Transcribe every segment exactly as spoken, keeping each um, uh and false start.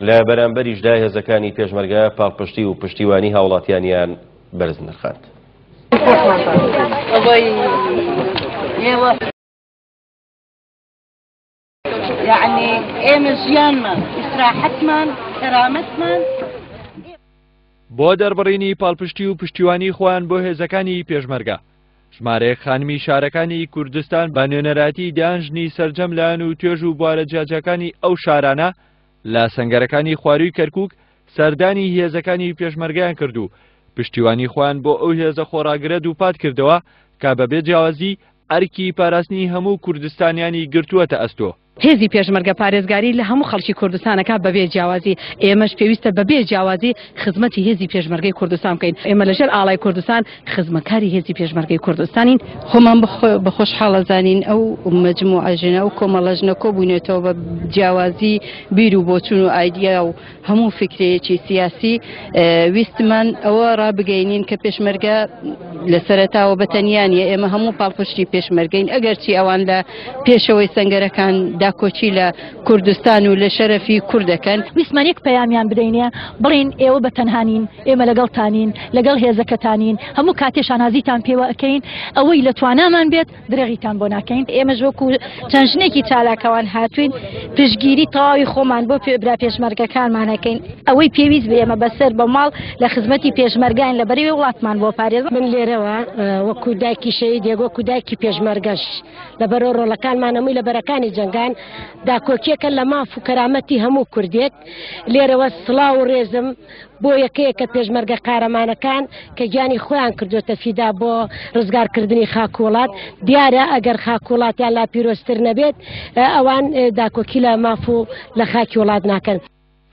لە بەرامبەریشدا هێزەکانی پێشمەرگە پاڵپشتی و پشتیوانی هاوڵاتیانیان بەرز نرخاند. یەعنی ئێمە ژیانمان، ئیسراحەتمان، کەرامەتمان. بۆ دەربڕینی پاڵپشتی و پشتیوانی خۆیان بۆ هێزەکانی پێشمەرگە، ژمارەیەک خانمی شارەکانی کوردستان بە نوێنەرایەتی دەیان ژنی سەرجەم لایەن و توێژ و بوارە جیاجیاکانی ئەو شارانە لە سەنگەرەکانی خوارووی کەرکووک سەردانی هێزەکانی پێشمەرگەیان کرد و پشتیوانی خۆیان بۆ ئەو هێزە خۆڕاگرە دووپات کردەوە کە بەبێ جیاوازی ئەرکی پاراستنی هەموو کوردستانیانی گرتووەتە ئەستۆ. هێزی پێشمەرگە پارێزگاری لە هەموو خەڵکی کوردستانەکە بەبێ جیاوازی، ئێمەش پێویستە بەبێ جیاوازی خزمەتی هێزی پێشمەرگەی کوردستان بکەین. ئێمە لەژێر ئاڵای کوردستان خزمەتکاری هێزی پێشمەرگەی کوردستانین. خۆمان بە خۆشحاڵە زانین ئەو مەجموعە ژنە ئەو کۆمەڵە ژنە کۆبوونێتەوە بە جیاوازی بیر و بۆچوون و ئایدیا و هەموو فکرەیەکی سیاسی. ویستمان ئەوە ڕابگەینین کە پێشمەرگە لە سەرەتاوە بەتەنیا نییە، ئێمە هەموو پاڵپشتی پێشمەرگەین، ئەگەرچی ئەوان لە پێشەوەی سەنگەرەکان داکۆکی لە کوردستان و لە شەرەفی کوردەکەن. ویستمان یەک پەیامیان بدەینێ، بڵین ئێوە بە تەنهانین، ئێمە لەگەڵتانین، لەگەڵ هێزەکەتانین، هەموو کاتێ شانازیتان پێوە ئەکەین، ئەوەی لە توانامان بێت درێغیتان بۆ ناکەین. ئێمەش وەکو چەند ژنێکی چالاکەوان هاتوین پشتگیری تەواوی خۆمان بۆ برا پێشمەرگەکانمان ئەکەین. ئەوەی پێویست بێ ئێمە بەسەر بە ماڵ لە خزمەتی پێشمەرگان لە بەرەوەی وڵاتمان بۆ پارێز. من لێرەوە وەکو دایکی شەهیدێک، وەکو دایکی پێشمەرگەش لەبەرەوە ڕۆڵەکانمان هەمووی لە بەرەکانی جەنگان داکۆکیەکە لە ماف و کەرامەتی هەموو کوردێک. لێرەوە سڵاو و ڕێزم بۆ یەکەیەکە پێشمەرگە قارەمانەکان کە گیانی خۆیان کردوێتە فیدا بۆ ڕزگارکردنی خاک وڵات. دیارە ئەگەر خاک وڵاتیان لا پیرۆزتر نەبێت ئەوان داکۆکی لە ماف و لە خاکی وڵات ناکەن.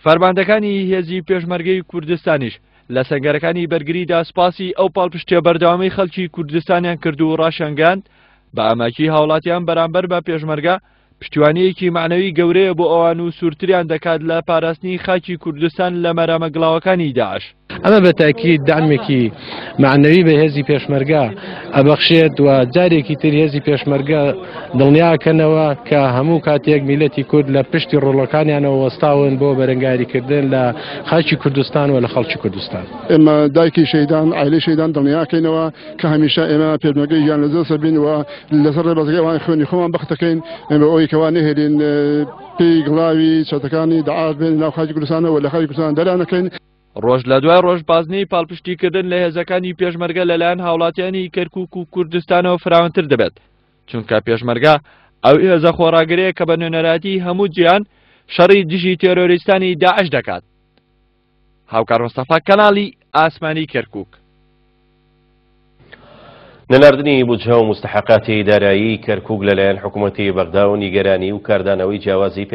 فەرماندەکانی هێزی پێشمەرگەی کوردستانیش لە سەنگەرەکانی بەرگریدا سپاسی ئەو پاڵپشتیە بەردەوامی خەڵکی کوردستانیان کرد و ڕاشیانگەیاند بە ئاماکی هاوڵاتیان بەرامبەر بە پێشمەرگە پشتیوانیەکی مەعنەوی گەورەیە بۆ ئەوان و سوورتریان دەکات لە پاراستنی خاکی کوردستان لە مەرامە گڵاوەکانی داعش. ئەمە بە تاکید دامێکی مەعنەوی بە هێزی پێشمەرگە ئەبەخشێت و جارێکی تر هێزی پێشمەرگە دڵنیاکەنەوە کە هەموو کاتێک میلەتی کورد لە پشتی ڕۆڵەکانیانەوە وەستاون بۆ بەرەنگاریکردن لە خاکی کوردستان و لە خەڵکی کوردستان. ئێمە دایکی شەهیدان، عائلەی شەهیدان دڵنیاکەینەوە کە هەمیشە ئێمە پێشمەرگەی گیان لەدەست بین و لەسەر ڕێبازەکەی ئەوان خوێنی خۆمان بەختەکەین بە ئەوەی کەوا نەهێلین پێی گڵاوی چەتەکانی داعش بێن ناو خاکی کوردستانەوە لە خاکی کوردستان دەرانەکەین. ڕۆژ لە دوای ڕۆژ بازنەی پاڵپشتیکردن لە هێزەکانی پێشمەرگە لەلایەن هاوڵاتیانی کەرکووک و کوردستانەوە فراوانتر دەبێت، چونکە پێشمەرگە ئەو هێزە خۆڕاگرەیە کە بە نوێنەرایەتی هەموو جیهان شەڕی دژی تێرۆریستانی داعش دەکات. هاوکار مستەفا، کەناڵی ئاسمانی کەرکووک. نەناردنی بودجە و مستحقاتی دارایی کەرکووک لەلایەن حکوومەتی بەغدا و نیگەرانی و کاردانەوەی جیاوازی